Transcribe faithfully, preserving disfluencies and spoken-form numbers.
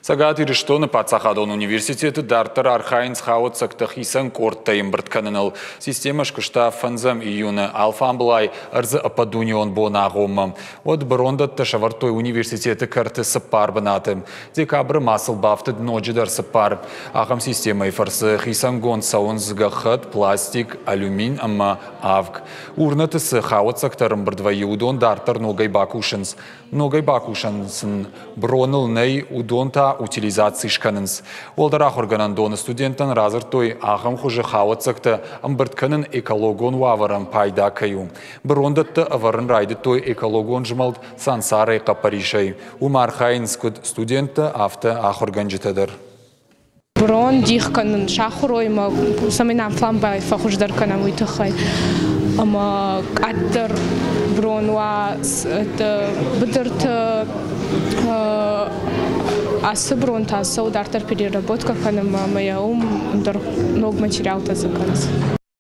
Цӕгат Ирыстоны паддзахадон университеты дарддӕр архайынц хауӕццӕгтӕ хицӕн къордтӕй ӕмбырд кӕныныл. Системӕ скуыста фӕндзӕм июны алфамбылай ӕрдзы ӕппӕтдунеон боны агъоммӕ. Уӕд бырондӕттӕ сӕвӕрдтой университеты кӕрты цыппар бынаты. Декабры ма сыл бафтыд ноджыдӕр цыппар. Ахӕм системӕйы фӕрцы хицӕнгонд цӕуынц гӕххӕтт, пластик, алюмин ӕмӕ авг. Урнӕты цы хауӕццӕгтӕ ӕрӕмбырд вӕййы, уыдон дарддӕр ногӕй бакусынц. Ногӕй бакусӕн сын броныл нӕй, уыдон та утилизаци скӕнынц. Уӕлдӕр ахуыргӕнӕндоны студенттӕн радзырдтой, ахӕм хуызы хауӕццӕгтӕ ӕмбырд кӕнын экологон уавӕрӕн пайда кӕй у. Бырондӕттӕ ӕвӕрын райдыдтой экологон змӕлд Сансарайы хъӕппӕрисӕй. Уым архайынц куыд студенттӕ, афтӕ ахуыргӕнджытӕ дӕр. Брон дих кӕнын сахуыр уой ӕмӕ цӕмӕй нӕ алфамбылай фӕхуыздӕр кӕнӕм, уый тыххӕй. Ӕмӕ къаддӕр брон уа быдырты, ацы брон та цӕуы дарддӕр переработка кӕнынмӕ ӕмӕ йӕ уым ӕндӕр ног материалтӕ дзы кӕнынц.